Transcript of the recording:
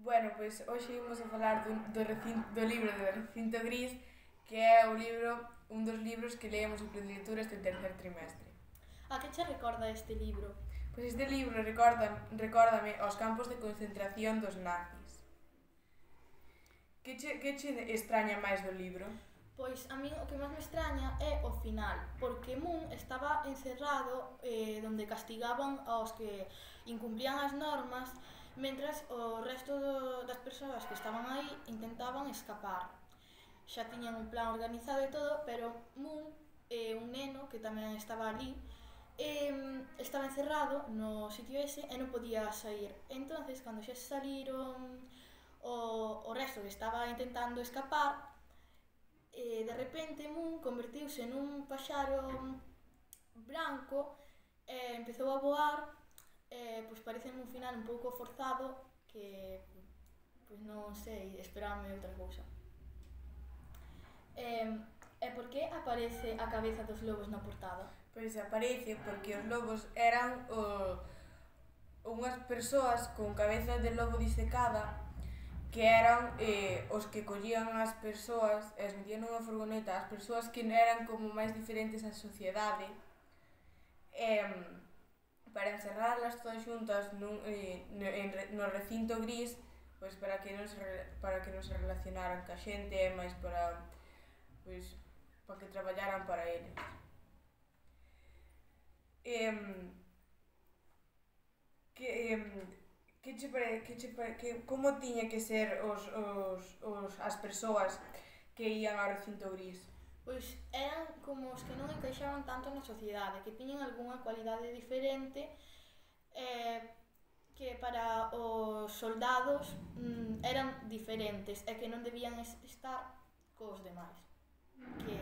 Bueno, pois hoxe imos a falar do libro do Recinto Gris, que é un dos libros que leemos en Predilectura este tercer trimestre. A que che recorda este libro? Pois este libro recórdame aos campos de concentración dos nazis. Que che extraña máis do libro? Pois a min o que máis me extraña é o final, porque Moon estaba encerrado donde castigaban aos que incumplían as normas, mentras o resto das persoas que estaban aí intentaban escapar. Xa tiñan un plan organizado e todo, pero Moon, un neno que tamén estaba ali, estaba encerrado no sitio ese e non podía sair. Entonces, cando xa saliron o resto que estaba intentando escapar, de repente Moon convertiuse nun paxaro branco e empezou a voar, pois parece un final un pouco forzado que pois non sei, esperábame outra cousa. E por que aparece a cabeza dos lobos na portada? Pois aparece porque os lobos eran unhas persoas con cabeza de lobo disecada que eran os que collían as persoas e as metían nunha furgoneta, as persoas que eran como máis diferentes á sociedade, para encerrarlas todas xuntas no recinto gris, pois para que non se relacionaran ca xente e máis pois, para que traballaran para eles. Que, como tiña que ser as persoas que ían ao recinto gris? Pois eran como os que non encaixaban tanto na sociedade, que tiñan algunha cualidade diferente, que para os soldados eran diferentes e que non debían estar cos demais. Que